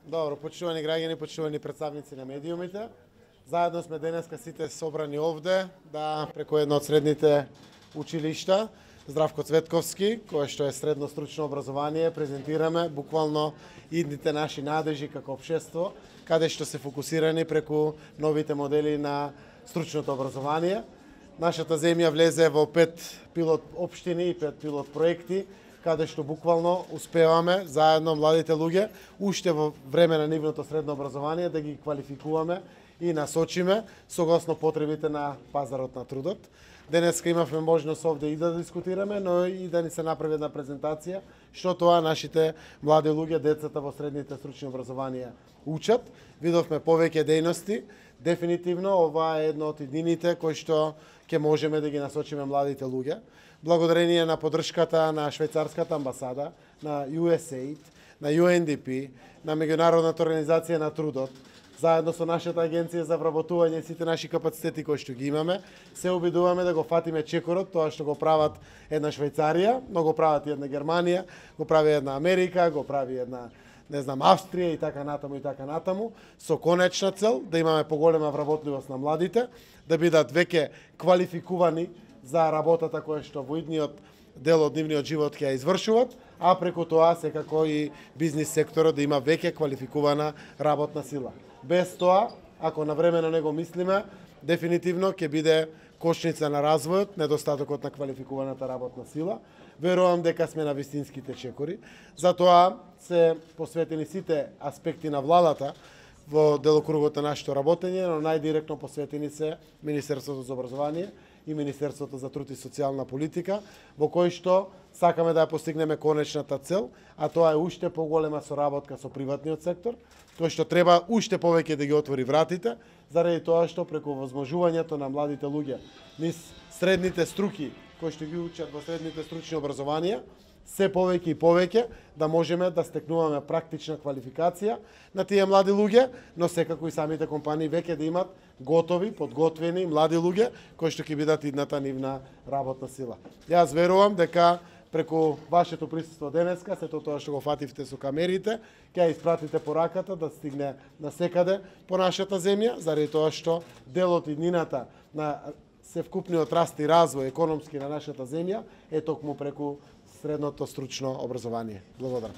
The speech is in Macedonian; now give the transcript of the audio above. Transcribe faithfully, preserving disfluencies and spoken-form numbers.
Добро, почитувани граѓани, почитувани представници на медиумите. Заедно сме денеска сите собрани овде да преку едно од средните училишта Здравко Цветковски, кое што е средно стручно образование, презентираме буквално идните наши надежи како општество, каде што се фокусирани преку новите модели на стручното образование. Нашата земја влезе во пет пилот општини и пет пилот проекти, каде што буквално успеваме заедно младите луѓе уште во време на нивното средно образование да ги квалификуваме и насочиме согласно потребите на пазарот на трудот. Денеска имавме можност овде и да дискутираме, но и да ни се направи една презентација што тоа нашите млади луѓе, децата во средните стручни образованија учат. Видовме повеќе дејности. Дефинитивно ова е едно од иднините кои што ќе можеме да ги насочиме младите луѓе. Благодарение на поддршката на швајцарската амбасада, на ю ес ей ай ди, на ю ен ди пи, на Меѓународната организација на трудот, заедно со нашата агенција за вработување и сите наши капацитети кои што ги имаме, се обидуваме да го фатиме чекорот, тоа што го прават една Швајцарија, но го прават и една Германија, го прави една Америка, го прави една, не знам, Австрија и така натаму и така натаму, со конечна цел да имаме поголема вработливост на младите, да бидат веќе квалификувани за работата која што во идниот дел од нивниот живот ќе ја извршуваат, а преку тоа секако и бизнис секторот да има веќе квалификувана работна сила. Без тоа, ако навремено не го мислиме, дефинитивно ќе биде кошница на развојот, недостатокот на квалификуваната работна сила. Верувам дека сме на вистинските чекори. Затоа се посветени сите аспекти на владата во делокругот на нашето работење, но најдиректно посветени се Министерството за образование и Министерството за труд и социјална политика, во кој што сакаме да ја постигнеме конечната цел, а тоа е уште поголема соработка со приватниот сектор, кој што треба уште повеќе да ги отвори вратите, заради тоа што преку возможувањето на младите луѓе низ средните струки кои што ги учат во средните стручни образованија, се повеќе и повеќе да можеме да стекнуваме практична квалификација на тие млади луѓе, но секако и самите компании веќе да имат готови, подготвени млади луѓе кои што ќе бидат идната нивна работна сила. Јас верувам дека преку вашето присуство денеска, сето тоа што го фативте со камерите, ќе ја испратите пораката да стигне насекаде по нашата земја, заради тоа што дел од иднината на севкупниот раст и развој економски на нашата земја е токму преку средното стручно образование. Благодарам.